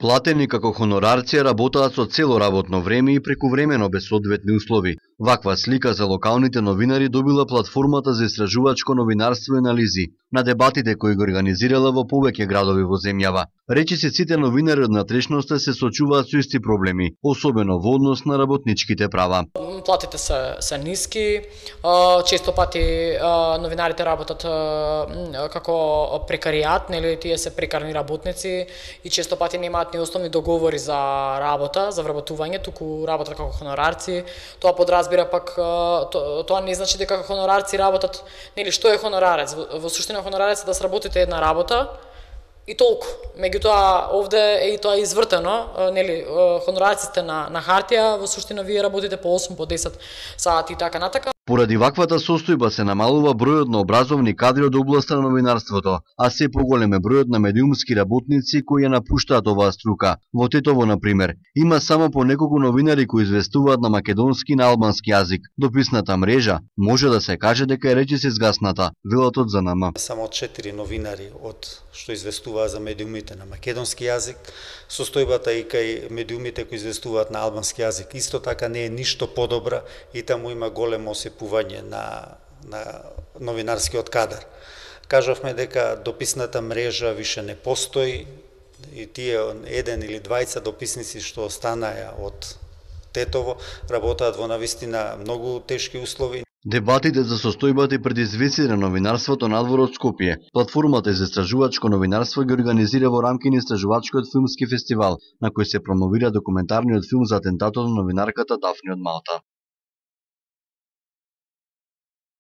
Платени како хонорарци работаат со цело работно време и прекувремено без соодветни услови. Ваква слика за локалните новинари добила платформата за истражувачко новинарство и анализи на дебатите кои го организирала во повеќе градови во земјава. Речиси сите новинари од натрешноста се соочуваат со исти проблеми, особено во однос на работничките права. Платите се ниски, често пати новинарите работат како прекариат, нели тие се прекарни работници и често пати немаат ни основни договори за работа, за вработување, туку работат како хонорарци. Тоа подразбира пак тоа не значи дека хонорарци работат, нели што е хонорарец? Во суштина хонорарец е да сработите една работа и толку. Меѓутоа овде е и тоа извртено, нели хонорарците на хартија, во суштина вие работите по 8 по 10 сати и така натака. Поради ваквата состојба се намалува бројот на образовни кадри од областа на новинарството, а се поголем е бројот на медиумски работници кои ја напуштаат оваа струка. Во Тетово, например, има само по неколку новинари кои известуваат на македонски и на албански јазик. Дописната мрежа може да се каже дека е речиси згасната, велат од ЗНМ. Само 4 новинари од што известуваат за медиумите на македонски јазик, состојбата и кај медиумите кои известуваат на албански јазик исто така не е ништо подобра и таму има големо осипување на новинарскиот кадар. Кажавме дека дописната мрежа више не постои и тие еден или двајца дописници што останаа од Тетово работаат во навистина многу тешки услови. Дебатите за состојбата и предизвиците на новинарството надвор од Скопје. Платформата за истражувачко новинарство ги организира во рамки на истражувачкиот филмски фестивал, на кој се промовира документарниот филм за атентатот на новинарката Дафни од Малта.